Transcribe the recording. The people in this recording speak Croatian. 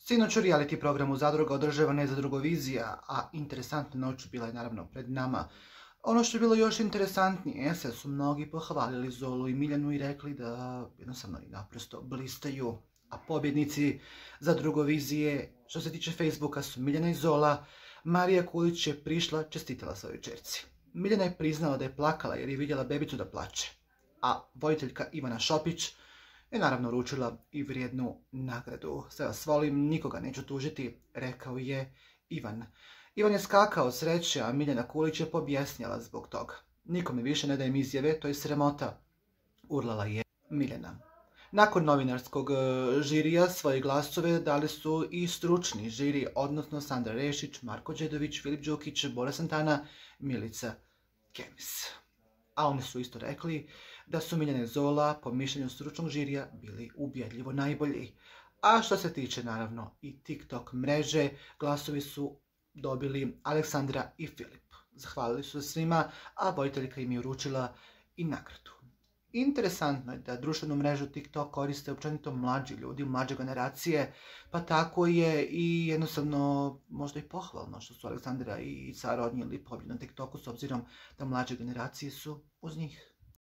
Sinoć u reality programu Zadruga održavana je Zadrugovizija, a interesantna noć bila je naravno pred nama. Ono što je bilo još interesantnije, se su mnogi pohvalili Zolu i Miljanu i rekli da jednostavno i naprosto blistaju. A pobjednici Zadrugovizije, što se tiče Facebooka, su Miljana i Zola. Marija Kulić je prišla, čestitala svojoj ćerci. Miljana je priznala da je plakala jer je vidjela bebicu da plače. A voditeljka Ivana Šopić je naravno uručila i vrijednu nagradu. Sve vas volim, nikoga neću tužiti, rekao je Ivan. Ivan je skakao od sreće, a Miljana Kulić je pobjesnjala zbog toga. Nikome više ne dajem izjave, to je sramota, urlala je Miljana. Nakon novinarskog žirija svoje glasove dali su i stručni žiri, odnosno Sandra Rešić, Marko Đedović, Filip Đukić, Bora Santana, Milica Kemis. A oni su isto rekli da su Miljana i Zola po mišljenju stručnog žirija bili ubjedljivo najbolji. A što se tiče naravno i TikTok mreže, glasovi su dobili Aleksandra i Filip. Zahvalili su svima, a voditeljka im je uručila i nagradu. Interesantno je da društvenu mrežu TikTok koriste općenito mlađi ljudi, mlađe generacije, pa tako je i jednostavno možda i pohvalno što su Aleksandra i Sara odnijeli pobjedu na TikToku s obzirom da mlađe generacije su uz njih.